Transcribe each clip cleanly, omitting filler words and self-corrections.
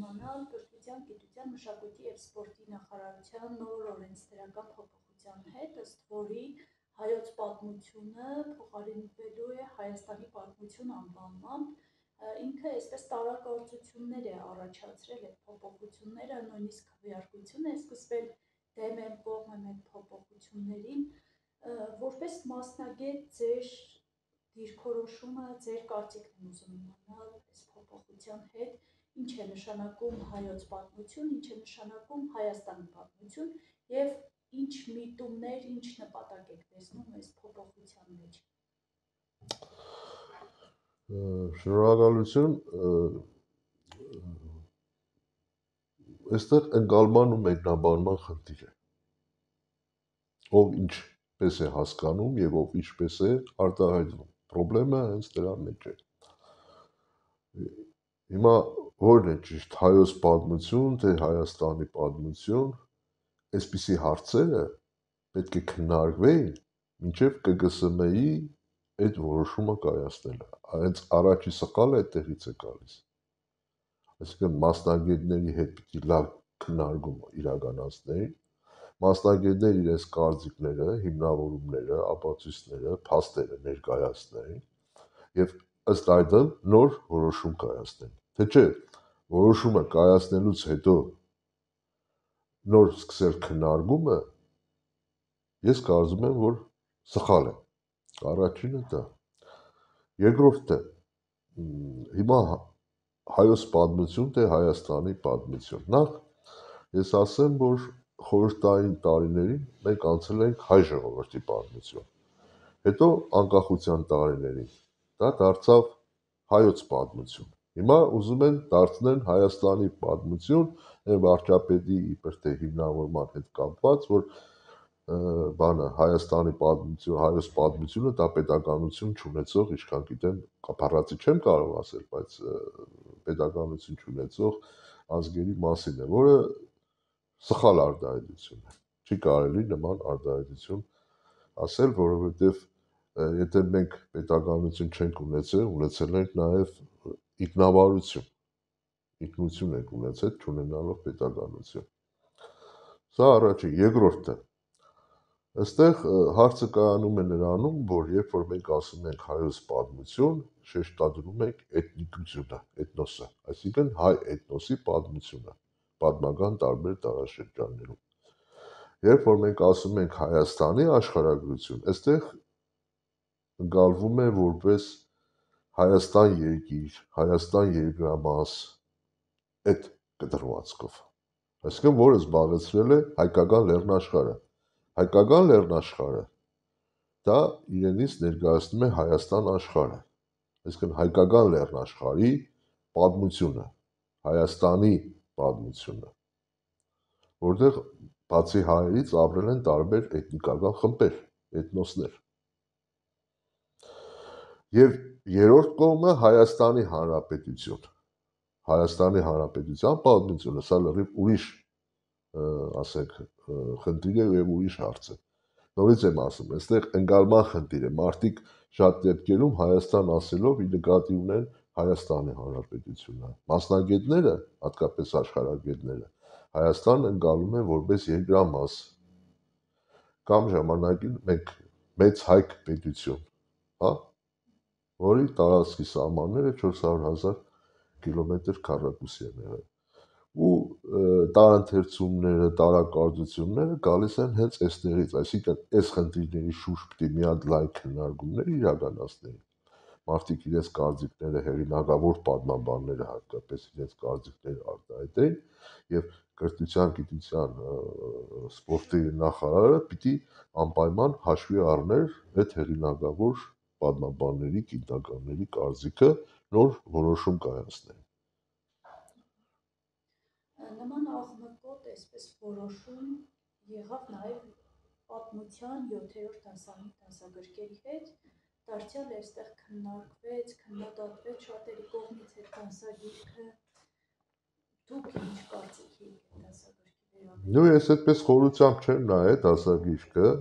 իմանալ կրթության, գիտության, մշակույթի և սպորտի նախարարության նոր օրենսդրական փոփոխության հետ, ըստ որի հայոց պատմությունը փոխարինվելու է Հայաստանի պատմություն անվանմամբ, ինքը այսպես տարակարծություններ է առաջացրել այդ փոփոխությունները, նույնիսկ քվեարկություն է սկսվել դեմ են կողմ են այդ փոփոխություններին, որպես մասնագետ ձեր դիրքորոշումը, ձեր կարծիքն եմ ուզում իմանալ այս փոփոխության հետ, ինչ է նշանակում հայոց պատմություն, ինչ է նշանակում Հայաստանի պատմություն և ինչ միտումներ, ինչ նպատակ եք տեսնում այս փոփոխության մեջ։ Շնորհակալություն, այստեղ ընկալման ու մեկնաբանման խնդիր է, ով ինչպես է հասկանում և ով ինչպես է արտահայտվում, պրոբլեմը հենց դրա մեջ է։ Հիմա որն է ճիշտ, հայոց պատմություն, թե Հայաստանի պատմություն, այսպիսի հարցերը պետք է քննարկվեին մինչև ԿԳՍՄ-ի այդ որոշումը կայացնելը, հենց առաջի սխալը այդտեղից է գալիս, այսինքն մասնագետների հետ պիտի լավ քննարկում իրականացնեին, մասնագետները իրենց կարծիքները, հիմնավորումները, ապացույցները, փաստերը ներկայացնեին և ըստ այդմ նոր որոշում կայացնեն, թե չէ որոշումը կայացնելուց հետո նոր սկսել քննարկումը, ես կարծում եմ, որ սխալ է, առաջինը դա, երկրորդը, հիմա հայոց պատմություն, թե Հայաստանի պատմություն, նախ ես ասեմ, որ խորհրդային տարիներին մենք անցել ենք հայ ժողովրդի պատմություն, հետո անկախության տարիներին դա դարձավ հայոց պատմություն, հիմա ուզում են դարձնել Հայաստանի պատմություն, վարչապետի իբր թե հիմնավորման հետ կապված, որ Հայաստանի պատմություն, հայոց պատմությունը դա պետականություն չունեցող, ինչքան գիտեմ, բառացի չեմ կարող ասել, բայց պետականություն չունեցող ազգերի մասին է, որը սխալ արտահայտություն է, չի կարելի նման արտահայտություն ասել, որովհետև եթե մենք պետականություն չենք ունեցել, ունեցել ենք նաև ինքնավարություն, ինքնություն ենք ունեցել, չունենալով պետականություն, սա առաջին, երկրորդը, այստեղ հարցը կայանում է նրանում, որ երբ որ մենք ասում ենք հայոց պատմություն, շեշտադրում ենք էթնիկությունը, էթնոսը, այսինքն հայ էթնոսի պատմությունը, պատմական տարբեր տարաշրջաններում, երբ որ մենք ասում ենք Հայաստանի աշխարհագրություն, այստեղ ընկալվում է որպես Հայաստան երկիր, Հայաստան երկրամաս, այդ կտրվածքով, այսինքն որը զբաղեցրել է հայկական լեռնաշխարհը, հայկական լեռնաշխարհը դա իրենից ներկայացնում է Հայաստան աշխարհը, այսինքն հայկական լեռնաշխարհի պատմությունը, Հայաստանի պատմությունը, որտեղ բացի հայերից ապրել են տարբեր էթնիկական խմբեր, էթնոսներ, և երրորդ կողմը Հայաստանի Հանրապետություն, Հայաստանի Հանրապետության պատմությունը, սա լրիվ ուրիշ, ասենք, խնդիր է և ուրիշ հարց է, նորից եմ ասում, այստեղ ընկալման խնդիր է, մարդիկ շատ դեպքերում Հայաստան ասելով ի նկատի ունեն Հայաստանի Հանրապետությունը, մասնագետները, հատկապես աշխարհագետները, Հայաստան ընկալում են որպես երկրամաս, կամ ժամանակին մենք մեծ հայք պետություն, որի տարածքի սահմանները 400,000 կիլոմետր քառակուսի են եղել, ու տարընթերցումները, տարակարծությունները գալիս են հենց այստեղից, այսինքն այս խնդիրների շուրջ պիտի մի հատ լայն քննարկումներ իրականացնեին, մարդիկ իրենց կարծիքները, հեղինակավոր պատմաբանները հատկապես իրենց կարծիքները արտահայտեին և կրթության, գիտության, սպորտի նախարարը պիտի անպայման հաշվի առներ այդ հեղինակավոր պատմաբանների, գիտնականների կարծիքը նոր որոշում կայացնեն։ Նման աղմկոտ այսպես որոշում եղավ նաև պատմության 7-րդ դասագրքերի հետ, դարձյալ այստեղ քննարկվեց, քննադատվեց շատերի կողմից այդ դասագիրքը, դուք ինչ կարծիքի եք այդ դասագրքի վերաբերյալ։ Նույն ես այդպես խորությամբ չեմ նայել դասագրքը,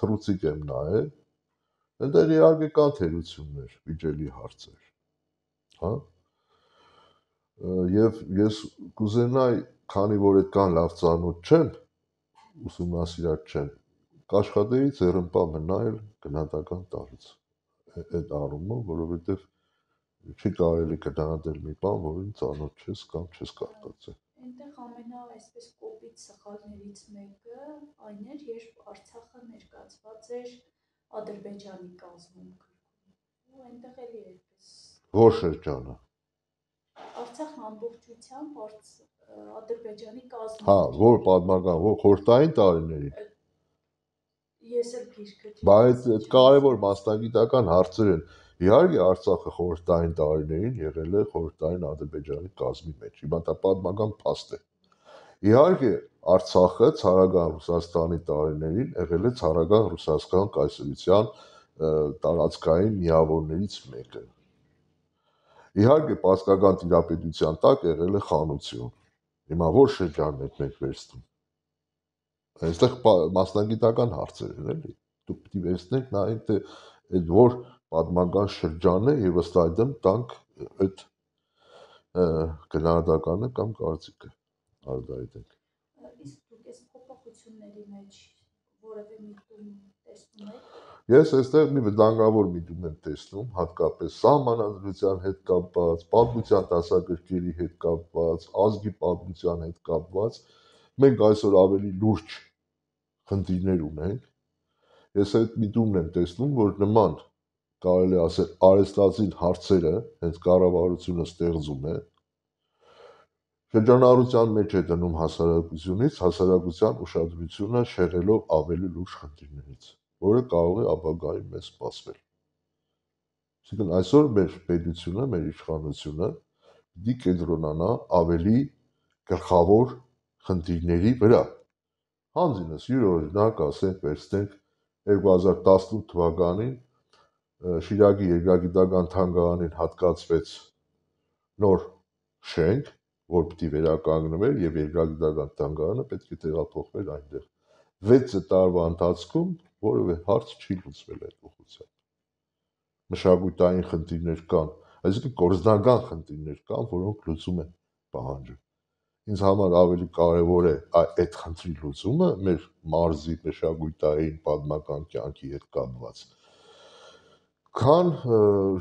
թռուցիկ եմ նայել, այնտեղ իհարկե կան թերություններ, վիճելի հարցեր, Եվ ես կուզենայի, քանի որ այդքան լավ ծանոթ չեմ, ուսումնասիրած չեմ, կաշխատեի ձեռնպա մնալ գնահատական տարուց այդ առումով, որովհետև չի կարելի գնահատել մի բան, որին ծանոթ չես կամ չես կարդացել։ Այնտեղ այսպես կոպիտ սխալներից մեկը այն էր, երբ Արցախը ներկայացված էր Ադրբեջանի կազմում գրքում։ Ու այնտեղ էլի այդպես Որ շրջանը։ Արցախն ամբողջությամբ Ադրբեջանի կազմում։ Հա, որ պատմական, որ խորհրդային տարիներին։ Ես էլ գիրքը Բայց այդ կարևոր մասնագիտական հարցեր են։ Իհարկե Արցախը խորհրդային տարիներին եղել է խորհրդային Ադրբեջանի կազմի մեջ։ Հիմա դա պատմական փաստ է։ Իհարկե Արցախը ցարական Ռուսաստանի տարիներին եղել է ցարական Ռուսաստան կայսրության տարածքային միավորներից մեկը։ Իհարկե պարսկական տիրապետության տակ եղել է խանություն։ Հիմա որ շրջանն եք մենք վերցնում։ Այստեղ մասնագիտական հարցեր են, էլի։ Դուք պիտի վերցնեք նայեք թե այդ որ պատմական շրջանն է եւ ըստ այդմ տանք այդ գնահատականը կամ կարծիքը արտահայտենք։ Իսկ դուք այս փոփոխությունների մեջ որևէ միտում տեսնում եք։ Ես այստեղ մի վտանգավոր միտում եմ տեսնում, հատկապես սահմանադրության հետ կապված, պատմության դասագրքերի հետ կապված, ազգի պատմության հետ կապված, մենք այսօր ավելի լուրջ խնդիրներ ունենք։ Ես այդ միտումն եմ տեսնում, որ նման կարելի ասել արհեստացին հարցերը հենց կառավարությունը ստեղծում է, շրջանառության մեջ է դնում հասարակությունից, հասարակության ուշադրությունը շեղելով ավելի լուրջ խնդիրներից, որը կարող է ապագայում մեզ սպասվել։ Այսինքն այսօր մեր պետությունը, մեր իշխանությունը պիտի կենտրոնանա ավելի գլխավոր խնդիրների վրա։ Հանձինս յուրօրինակ ասենք վերցնենք 2018 թվականին Շիրակի երկրագիտական թանգարանին հատկացվեց նոր շենք, որ պիտի վերականգնվեր եւ երկրագիտական թանգարանը պետք է տեղափոխվեր այնտեղ։ 6 տարվա ընթացքում որևէ հարց չի լուծվել այդ ուղղությամբ։ Մշակութային խնդիրներ կան, այսինքն կորզնական խնդիրներ կան, որոնք լուծում են պահանջում։ Ինձ համար ավելի կարևոր է այդ խնդրի լուծումը մեր մարզի մշակութային պատմական կյանքի հետ կապված, քան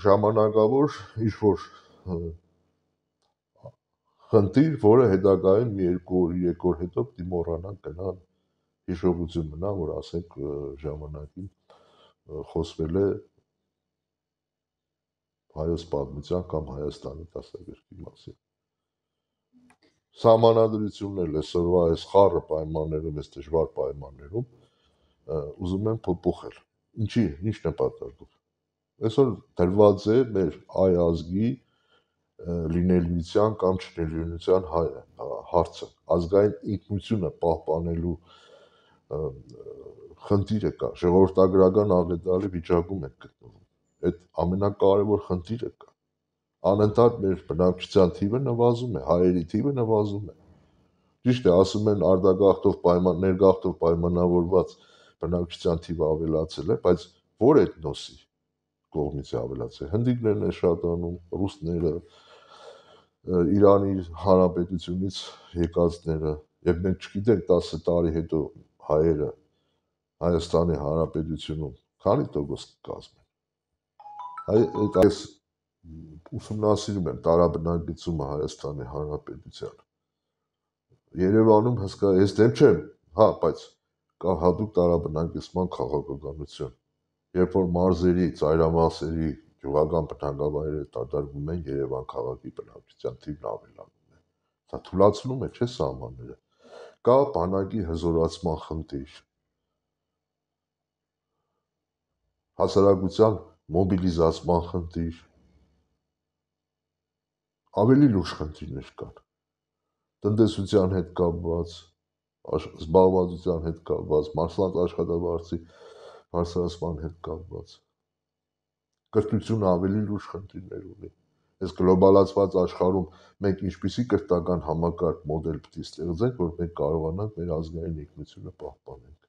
ժամանակավոր ինչ-որ խնդիր, որը հետագայում մի 2 օր, 3 օր հետո պիտի մոռանանք գնան հիշողություն մնա, որ ասենք ժամանակին խոսվել է հայոց պատմության կամ Հայաստանի դասագրքի մասին։ Սահմանադրությունն էլ այսօրվա այս խառը պայմաններում, այս դժվար պայմաններում ուզում են փոփոխել։ Ինչ նպատակով։ Այսօր դրված է մեր այ ազգի լինելիության կամ չլինելիության հարցը, ազգային ինքնությունը պահպանելու խնդիրը կա, ժողովրդագրական աղետալի վիճակում ենք գտնվում։ Այդ ամենակարևոր խնդիրը կա։ Անընդհատ մեր բնակչության թիվը նվազում է, հայերի թիվը նվազում է։ Ճիշտ է, ասում են արտագաղթով ներգաղթով պայմանավորված բնակչության թիվը ավելացել է, բայց որ էթնոսի կողմից է ավելացել։ Հնդիկներն են շատանում, ռուսները, Իրանի Հանրապետությունից եկածները, եւ մենք չգիտենք 10 տարի հետո հայերը Հայաստանի Հանրապետությունում քանի տոկոս կկազմեն։ Այս ուսումնասիրում եմ տարաբնակեցումը Հայաստանի Հանրապետության։ Երևանում հսկա ես դեմ չեմ, հա, բայց կա հատուկ տարաբնակեցման քաղաքականություն։ Երբ որ մարզերի, ծայրամասերի գյուղական բնակավայրերը դադարվում են, Երևան քաղաքի բնակչության թիվն ավելանում է։ Դա թուլացնում է, չէ՞ սահմանները։ Կա բանակի հզորացման խնդիր, հասարակության մոբիլիզացման խնդիր, ավելի լուրջ խնդիրներ կան, տնտեսության հետ կապված, զբաղվածության հետ կապված, մարդկանց աշխատավարձի բարձրացման հետ կապված, կրթությունը ավելի լուրջ խնդիրներ ունի։ Այս գլոբալացված աշխարհում մենք ինչպիսի կրթական համակարգ մոդել պիտի ստեղծենք, որ մենք կարողանանք մեր ազգային ինքնությունը պահպանենք։